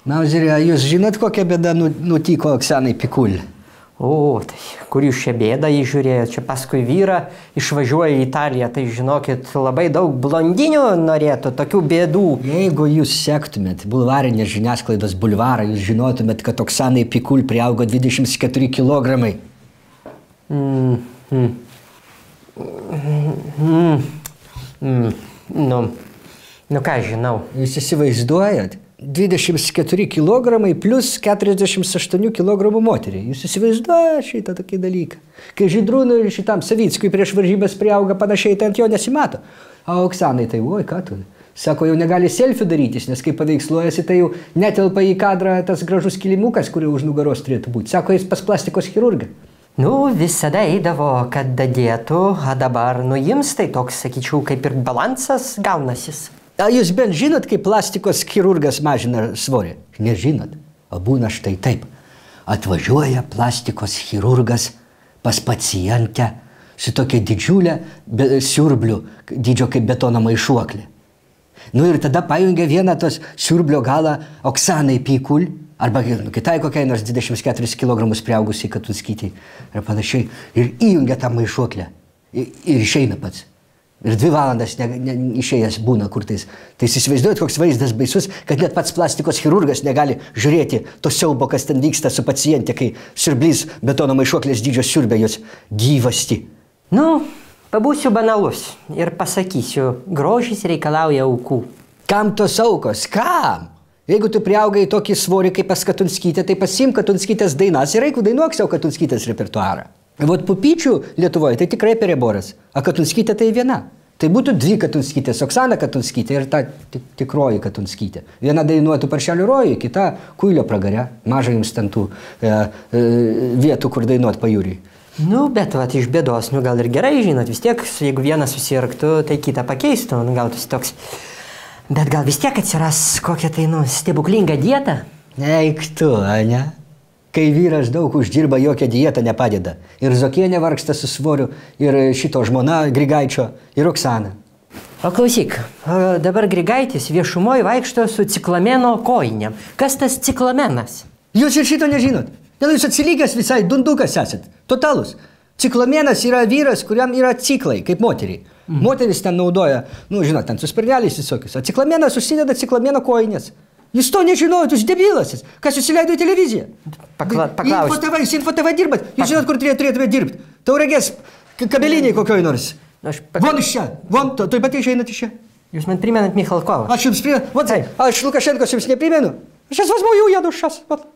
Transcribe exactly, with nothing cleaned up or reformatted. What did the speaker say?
Mauzeri, jūs žinot, kokia bėda nutiko Oksanai Pikul? O, tai kur jūs šią bėdą įžiūrėjot? Čia paskui vyrą išvažiuoja į Italiją, tai žinokit, labai daug blondinių norėtų, tokių bėdų. Jeigu jūs sektumėt bulvarinės žiniasklaidos bulvarą, jūs žinotumėt, kad Oksanai Pikul priaugo dvidešimt keturi kilogramai. Mm, mm, mm, mm, nu, nu ką žinau. Jūs įsivaizduojat? dvidešimt keturi kilogramai plus keturiasdešimt aštuoni kilogramų moteriai. Jūs įsivaizduojate šitą tokį dalyką. Kai Žydrūnui ir šitam Savickui prieš varžybas priauga panašiai, tai ant jo nesimato. O Oksanai tai, oi, ką tu? Sako, jau negali selfie darytis, nes kai paveiksluojasi, tai jau netelpa į kadrą tas gražus kilimukas, kurio už nugaros turėtų būti. Sako, jis pas plastikos chirurgą. Nu, visada eidavo, kad dadėtų, o dabar nuims, tai toks, sakyčiau, kaip ir balansas gaunasis. Ar jūs bent žinot, kaip plastikos chirurgas mažina svorį? Nežinot. O būna štai taip. Atvažiuoja plastikos chirurgas pas pacientę su tokia didžiulė siurblių, dydžio kaip betono maišuoklė. Nu ir tada pajungia vieną tos siurblio galą Oksanai Pikul, arba kitai kokiai nors dvidešimt keturis kilogramus priaugusiai Katunskytei ir panašiai, ir įjungia tą maišuoklę ir, ir išeina pats. Ir dvi valandas ne, ne, išėjęs būna kur tais. Tai įsivaizduojat, koks vaizdas baisus, kad net pats plastikos chirurgas negali žiūrėti to siaubo, kas ten vyksta su pacientė, kai siurblys betono maišuoklės dydžio siurbia jos gyvasti. Nu, pabūsiu banalus ir pasakysiu, grožis reikalauja aukų. Kam tos aukos? Kam? Jeigu tu priaugai tokį svorį kaip pas Katunskytę, tai pasiimk Katunskytės dainas ir eik dainuok savo Katunskytės repertuarą. Vot pupyčių Lietuvoje tai tikrai pereboras, o Katunskytė tai viena. Tai būtų dvi Katunskytės, Oksana Katunskytė ir ta tikroji Katunskytė. Viena dainuotų Paršelių rojui, kita Kuilio pragare. Maža jums ten tų e, e, vietų, kur dainuot pajūriui. Nu, bet vat iš bėdos, nu gal ir gerai, žinot, vis tiek, jeigu vienas susirgtų, tai kitą pakeistų, nu gautųsi toks. Bet gal vis tiek atsiras kokia tai, nu, stebuklinga dieta? Eik tu, ane? Kai vyras daug uždirba, jokia dieta nepadeda. Ir Zokienė vargsta su svoriu, ir šito žmona Grigaičio, ir Oksana. O klausyk, o dabar Grigaitis viešumoje vaikšto su ciklameno kojinėm. Kas tas ciklamenas? Jūs ir šito nežinot. Dėl jūs atsilygęs visai dundukas esat. Totalus. Ciklamenas yra vyras, kuriam yra ciklai, kaip moteriai. Mm. Moteris ten naudoja, nu, žinot, ten su spirneliais visokius. O ciklamenas užsideda ciklameno kojinės. Jūs to nežinojot, jūs debilasis. Kas jūs įleido į televiziją? Pakla, paklausti. Info T V, jūs Info T V dirbat. Jūs žinot, kur turėtumėte dirbti. Tauragės kabeliniai kokioj nors. Aš pak... Von iš čia. Von, to, to pat išeinat iš čia. Jūs man primenat Michalkovą. Aš jums primenu. Vat, aš Lukašenkos jums neprimenu. Aš jas возьму и уеду сейчас. Вот.